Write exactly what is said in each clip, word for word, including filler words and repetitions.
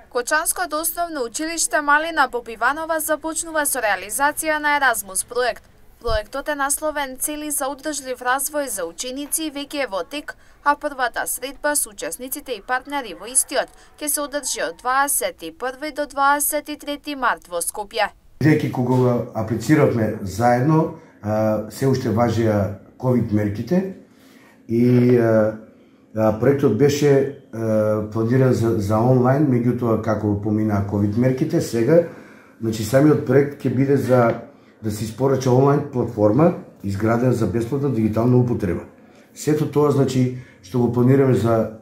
Кочанското основно училиште Малина Попиванова започнува со реализација на Еразмус проект. Проектот е насловен Цели за одржлив развој за ученици и веќе е во тек, а првата средба со учесниците и партнери во истиот ќе се одржи од дваесет и први до дваесет и трети март во Скопје. Бидејќи кога аплициравме заедно, се уште важеа ковид мерките и проектот беше планиран за, за онлайн, меѓутоа како поминаа ковид мерките, сега значи самиот проект ќе биде за да се испорача онлайн платформа изградена за бесплатна дигитална употреба. Сето тоа значи што го планираме за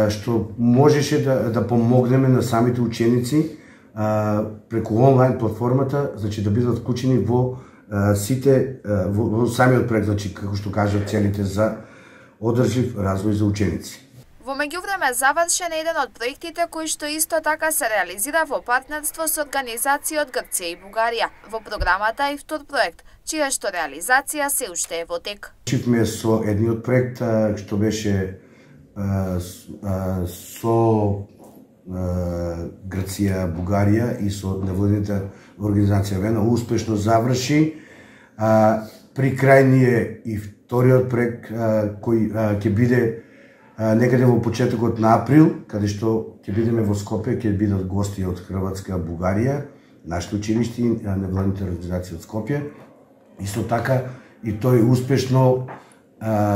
што можеше да да помогнеме на самите ученици преку онлайн платформата, значи да бидат вклучени во сите во, во самиот проект, значи како што кажат целите за одржлив развој за ученици. Во меѓувреме завршен еден од проектите кои што исто така се реализира во партнерство со организации од Грција и Бугарија. Во програмата е и втор проект, чија што реализација се уште е во тек. Чивме со едниот проект што беше со Грција, Бугарија и со невладината организација Вена успешно заврши. При крај ни е и вториот проект кој ќе биде некаде во почетокот на април, каде што ќе бидеме во Скопје, ќе бидат гости од Хрватска, Бугарија, нашите училишти, невладините организации од Скопје. Исто така и тој успешно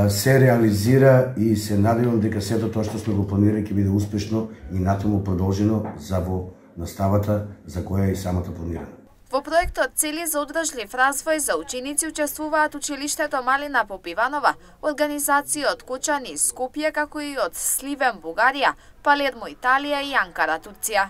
се реализира и се надевам дека сето тоа што сме го планирали ќе биде успешно и натаму продолжено за во наставата за која и самата планирана. Во проектот Цели за одржлив развој за ученици учествуваат училиштето Малина Попиванова, организации од Кочани, Скопје, како и од Сливен, Бугарија, Палермо, Италија и Анкара, Турција.